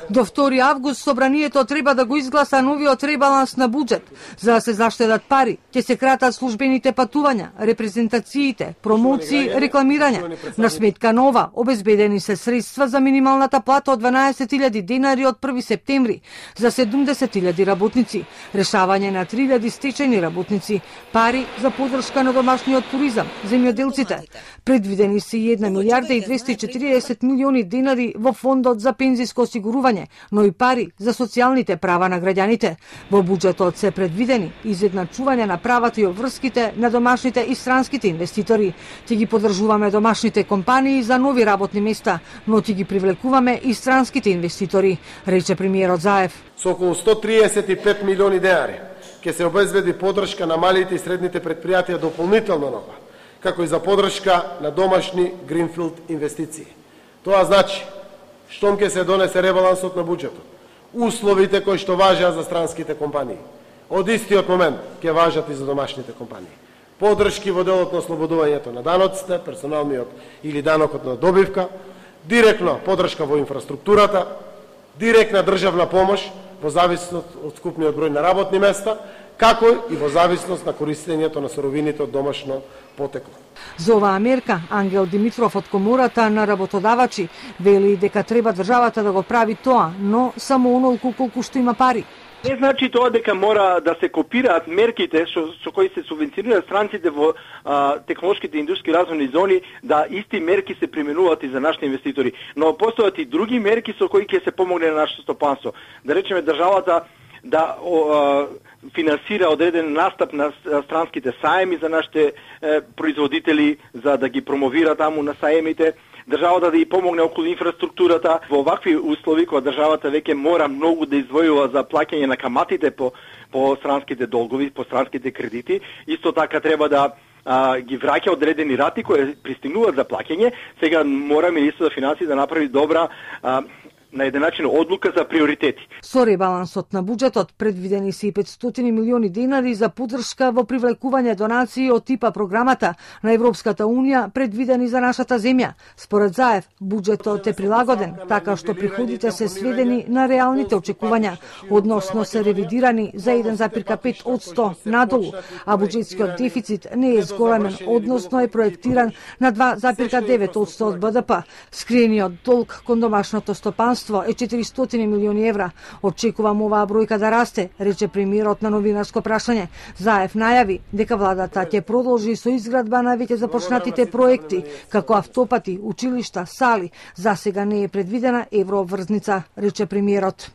До 2 август собранието треба да го изгласа новиот ребаланс на буџет. За да се заштедат пари, ќе се кратат службените патувања, репрезентациите, промоции, рекламирање. На сметка нова, обезбедени се средства за минималната плата од 12.000 денари од 1 септември за 70.000 работници, решавање на 3.000 стечајни работници, пари за поддршка на домашниот туризам, земјоделците. Предвидени се 1 милијарда и 240 милиони денари во фондот за пензиско осигурување, но и пари за социјалните права на граѓаните. Во буџетот се предвидени изедначување на правата и обврските на домашните и странските инвеститори. Ќе ги поддржуваме домашните компании за нови работни места, но ќе ги привлекуваме и странските инвеститори, рече премиерот Заев. Со околу 135 милиони денари ќе се обезбеди поддршка на малите и средните претпријатија дополнително нова, како и за поддршка на домашни гринфилд инвестиции. Тоа значи, штом ќе се донесе ребалансот на буџетот, условите кои што важат за странските компании, од истиот момент ќе важат и за домашните компании. Поддршки во делот на ослободувањето на даноците, персоналниот или данокот на добивка, директно поддршка во инфраструктурата, директна државна помош во зависност од скупниот број на работни места, како и во зависност на користењето на суровините од домашно потекло. За оваа мерка, Ангел Димитров од Комората на работодавачи вели дека треба државата да го прави тоа, но само онолку колку што има пари. Не значи тоа дека мора да се копираат мерките со кои се субвенционираат странците во технолошките индустријски развојни зони, да исти мерки се применуваат и за нашите инвеститори. Но постојат и други мерки со кои ќе се помогне на нашето стопанство. Да речеме државата да финансира одреден настап на странските саеми за нашите производители, за да ги промовира таму на саемите. Државата да ја помогне околу инфраструктурата. Во овакви услови, кога државата веќе мора многу да издвојува за плаќање на каматите по странските долгови, по странските кредити, исто така треба да ги враќа одредени рати кои пристигнуваат за плаќање. Сега мора Министерството за финансии да направи добра на еден начин одлука за приоритети. Со ребалансот на буџетот предвидени се и 500 милиони денари за поддршка во привлекување донации од типа програмата на Европската Унија предвидени за нашата земја. Според Заев, буџетот е прилагоден така што приходите се сведени на реалните очекувања, односно се ревидирани за 1,5% надолу, а буџетскиот дефицит не е зголемен, односно е проектиран на 2,9% од БДП. Скриениот долг кон домашното стопанство е 400 милиони евра. Очекувам оваа бројка да расте, рече премиерот на новинарско прашање. Заев најави дека владата ќе продолжи со изградба на веќе започнатите проекти, како автопати, училишта, сали. За сега не е предвидена еврообврзница, рече премиерот.